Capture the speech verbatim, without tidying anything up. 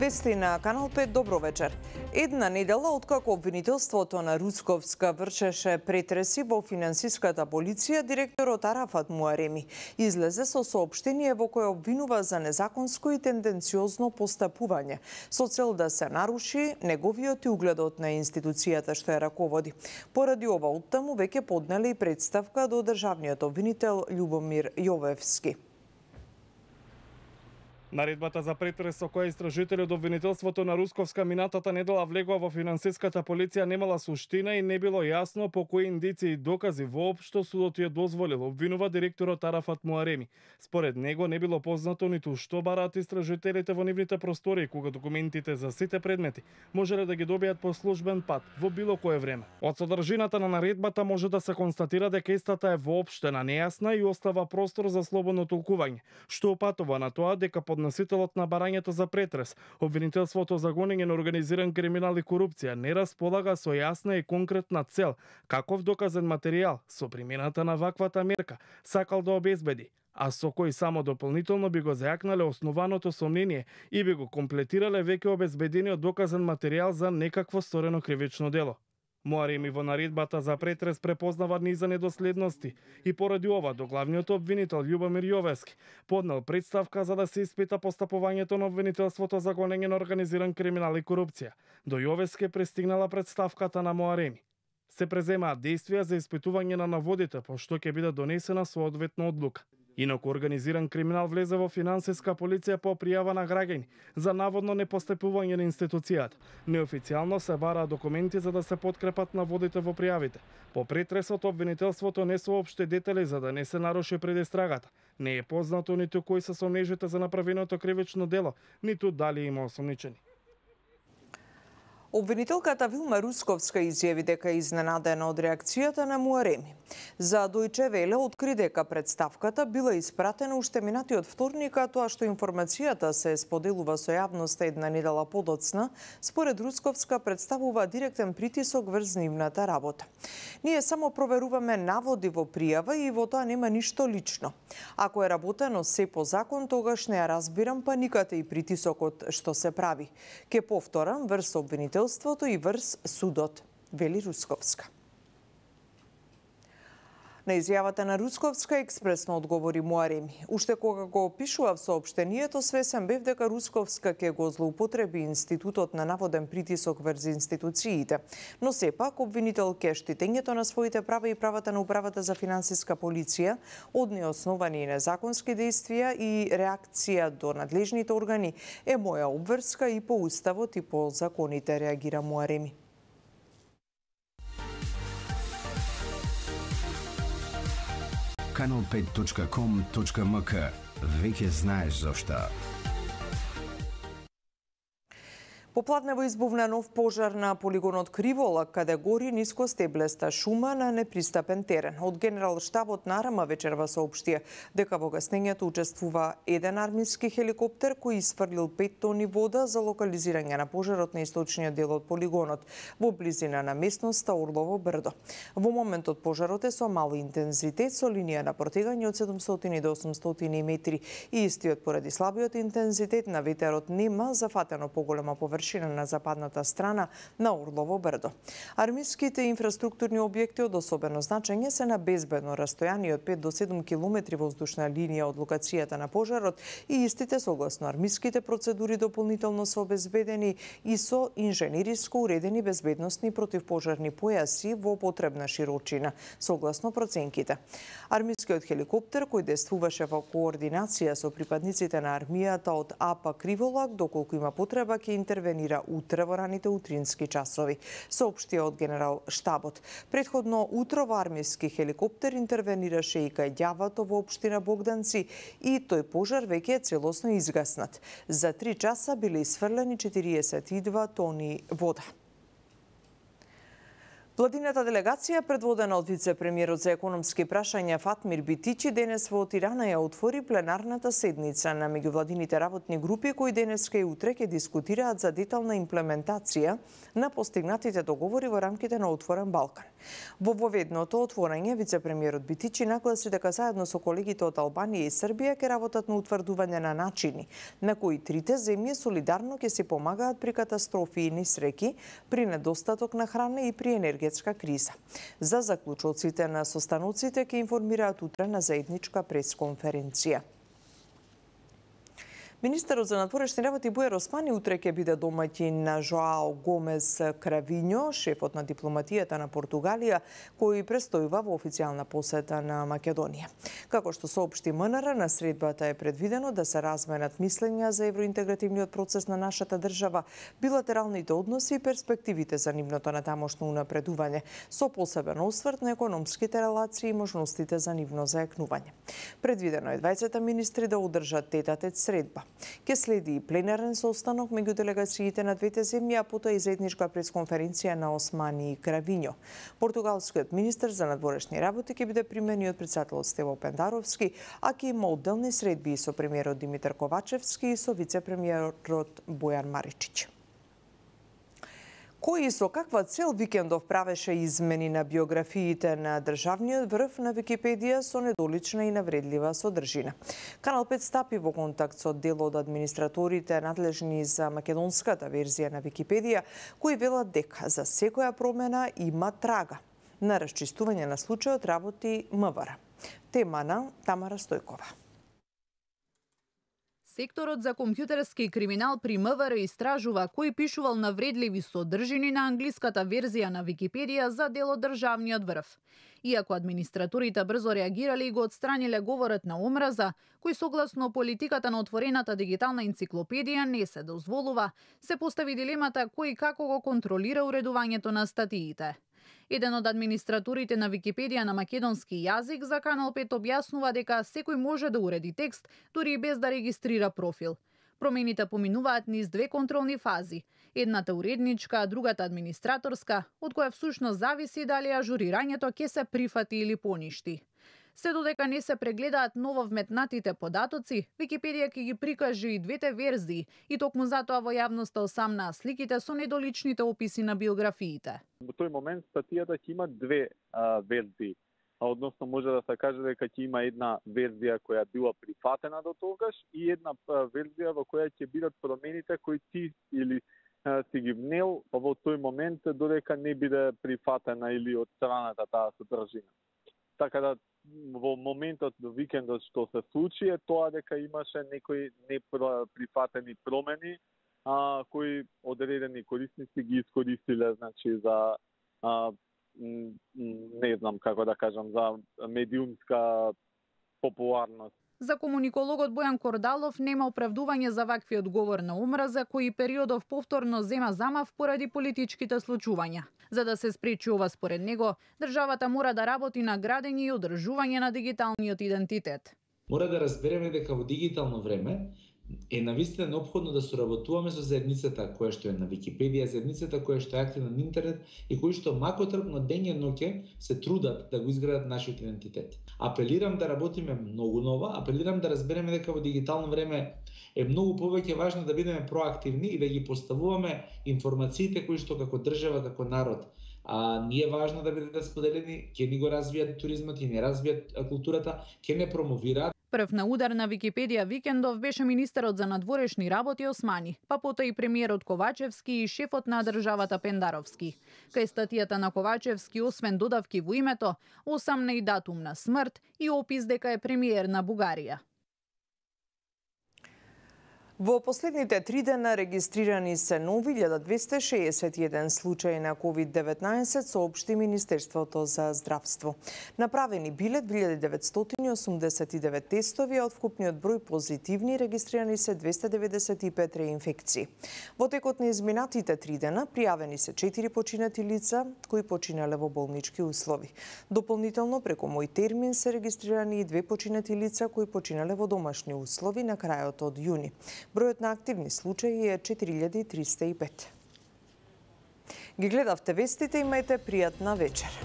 Вести на Канал пет, добро вечер. Една недела откако обвинителството на Русковска вршеше претреси во финансиската полиција, директорот Арафат Муареми излезе со соопштение во кое обвинува за незаконско и тенденциозно постапување, со цел да се наруши неговиот и угледот на институцијата што ја раководи. Поради ова оттаму веќе поднеле и представка до државниот обвинител Љубомир Јовевски. Наредбата за претрес со која истражители од обвинителството на Русковска минатата недела влегува во финансиската полиција немала суштина и не било јасно по кои индици и докази воопшто судот ја дозволил, обвинува директорот Арафат Муареми. Според него не било познато ниту што бараат истражителите во нивните простори, кога документите за сите предмети можеле да ги добијат по службен пат во било кое време. Од содржината на наредбата може да се констатира дека истата е воопштена, нејасна и остава простор за слободно толкување, што опатува на тоа дека под носителот на барањето за претрес, обвинителството за гонење на организиран криминал и корупција не располага со јасна и конкретна цел, каков доказен материјал со примената на ваквата мерка сакал да обезбеди, а со кој само дополнително би го зајакнале основаното сомнение и би го комплетирале веќе обезбедениот доказен материјал за некакво сторено кривично дело. Муареми во наредбата за претрес препознава низа недоследности и поради ова до главниот обвинител Љубомир Јовевски поднел представка за да се испита постапувањето на обвинителството за гонење на организиран криминал и корупција. До Јовевски пристигнала представката на Муареми. Се преземаат действија за испитување на наводите, по што ќе биде донесена соодветна одлука. Инаку организиран криминал влезе во финансиска полиција по пријава на граѓани за наводно непостапување на институцијата. Неофицијално се бараат документи за да се подкрепат наводите во пријавите. По претресот обвинителството не соопшти детали за да не се наруши предистрагата. Не е познато ниту кои се сомнежите за направеното кривично дело, ниту дали има осомничени. Обвинителката Вилма Русковска изјави дека е изненадена од реакцијата на Муареми. За Дојче Веле откри дека представката била испратена уште минатиот вторник, а тоа што информацијата се споделува со јавноста една недела подоцна, според Русковска представува директен притисок врз нивната работа. Ние само проверуваме наводи во пријава и во тоа нема ништо лично. Ако е работено се по закон, тогаш не ја разбирам паниката и притисокот што се прави. Ке повторам врз обвинител и врз судот, вели Русковска. На изјавата на Русковска експресно одговори Муареми. Уште кога го опишував соопштението, свесен бев дека Русковска ќе го злоупотреби институтот на наводен притисок врз институциите. Но сепак, обвинител ке штитењето на своите права и правата на управата за финансиска полиција од неосновани и незаконски действија и реакција до надлежните органи е моја обврска и по уставот и по законите, реагира Муареми. канал пет точка ком точка ем ка. Веќе знаеш зошто. Попладнево избувна нов пожар на полигонот Криволак, каде гори нискостеблеста шума на непристапен терен. Од Генерал-штабот на АРМА вечерва соопштија дека во гаснењето учествува еден армиски хеликоптер кој isfрлил пет тони вода за локализирање на пожарот на источниот дел од полигонот во близина на местноста Орлово брдо. Во моментот пожарот е со мал интензитет, со линија на протегање од седумстотини до осумстотини метри и истиот поради слабиот интензитет на ветерот нема зафатено поголема површина на западната страна на Орлово брдо. Армиските инфраструктурни објекти од особено значење се на безбедно растојание од пет до седум километри воздушна линија од локацијата на пожарот и истите согласно армиските процедури дополнително се обезбедени и со инженериско уредени безбедносни противпожарни појаси во потребна широчина, согласно проценките. Армискиот хеликоптер кој действуваше во координација со припадниците на армијата од АПА Криволак, доколку има потреба ќе интервенира утре во раните утрински часови, соопштија од Генерал-штабот. Претходно утрово армиски хеликоптер интервенираше и кај ѓавато во општина Богданци и тој пожар веќе е целосно изгаснат. За три часа биле исфрлени четириесет и два тони вода. Владината делегација, предводена од вице-премиерот за економски прашања Фатмир Битичи, денес во Тирана ја отвори пленарната седница на меѓувладините работни групи кои денеска и утре ќе дискутираат за детална имплементација на постигнатите договори во рамките на Отворен Балкан. Во воведното отворање, вице-премиерот Битичи нагласи дека заедно со колегите од Албанија и Србија ќе работат на утврдување на начини на кои трите земји солидарно ќе си помагаат при катастрофи и несреќи, при недостаток на храна и при енергија криза. За заклучоците на состаноците ќе информираат утре на заедничка пресконференција. Министерот за надворешни работи Бујар Османи утре ќе биде домаќин на Жоао Гомес Кравињо, шефот на дипломатијата на Португалија, кој престојува во официјална посета на Македонија. Како што соопшти МНР, на средбата е предвидено да се разменат мислења за евроинтегративниот процес на нашата држава, билатералните односи и перспективите за нивното натамошно унапредување, со посебен осврт на економските релации и можностите за нивно заекнување. Предвидено е дваесет министри да одржат тет-а-тет средба. Ке следи и пленарен состанок меѓу делегациите на двете земји, а потоа и заедничка пресконференција на Османи и Кравињо. Португалскиот министер за надворешни работи ќе биде примени од претседателот Стево Пендаровски, а ќе има одделни средби со премиерот Димитар Ковачевски и со вице-премиерот Бојан Маричич. Кој и со каква цел Викендов правеше измени на биографиите на државниот врв на Википедија со недолична и навредлива содржина. Канал пет стапи во контакт со дел од администраторите надлежни за македонската верзија на Википедија, кои велат дека за секоја промена има трага. На расчистување на случајот работи МВР. Тема на Тамара Стојкова. Секторот за компјутерски криминал при МВР истражува кој пишувал навредливи содржини на англиската верзија на Википедија за дел од државниот врв. Иако администраторите брзо реагирали и го отстраниле говорот на омраза, кој согласно политиката на отворената дигитална енциклопедија не се дозволува, се постави дилемата кој и како го контролира уредувањето на статиите. Еден од администраторите на Википедија на македонски јазик за Канал пет објаснува дека секој може да уреди текст, дури и без да регистрира профил. Промените поминуваат низ две контролни фази. Едната уредничка, а другата администраторска, од која всушност зависи дали ажурирањето ќе се прифати или поништи. Се додека не се прегледаат ново вметнатите податоци, Википедија ќе ги прикаже и двете верзии и токму затоа во јавноста осамнаа сликите со недоличните описи на биографиите. Во тој момент статијата ќе има две а, верзии, а односно може да се каже дека ќе има една верзија која била прифатена до тогаш и една а, верзија во која ќе бидат промените кои ти или а, си ги внел во тој момент додека не биде прифатена или отстраната таа содржина. Така да во моментот до викендот што се случи е тоа дека имаше некои неприфатени промени а, кои одредени корисници ги искористиле, значи за а, не знам како да кажам, за медиумска популарност. За комуникологот Бојан Кордалов нема оправдување за ваквиот говор на омраза кој периодов повторно зема замав поради политичките случувања. За да се спречи ова според него, државата мора да работи на градење и одржување на дигиталниот идентитет. Мора да разбереме дека во дигитално време е навистина неопходно да соработуваме со заедницата која што е на Википедија, заедницата која што е активна на интернет и кои што макотрпно дење ноќе се трудат да го изградат нашиот идентитет. Апелирам да работиме многу нова, апелирам да разбереме дека во дигитално време е многу повеќе важно да бидеме проактивни и да ги поставуваме информациите кои што како држава, како народ а ние е важно да бидат споделени, ќе ни го развијат туризмот, ќе ни развијат културата, ќе не промовираат. Прв на удар на Википедија викендов беше министерот за надворешни работи Османи, па потоа и премиерот Ковачевски и шефот на државата Пендаровски. Кај статијата на Ковачевски, освен додавки во името, осамна и датум на смрт и опис дека е премиер на Бугарија. Во последните три дена регистрирани се нови илјада двесте шеесет и еден случаи на ковид деветнаесет, соопшти Министерството за здравство. Направени биле две илјади деветстотини осумдесет и девет тестови, а од вкупниот број позитивни регистрирани се двесте деветдесет и пет реинфекции. Во текот на изминатите три дена пријавени се четири починати лица кои починале во болнички услови. Дополнително преку мој термин се регистрирани и две починати лица кои починале во домашни услови на крајот од јуни. Бројот на активни случаи е четири илјади триста и пет. Ги гледавте вестите, имајте пријатна вечер.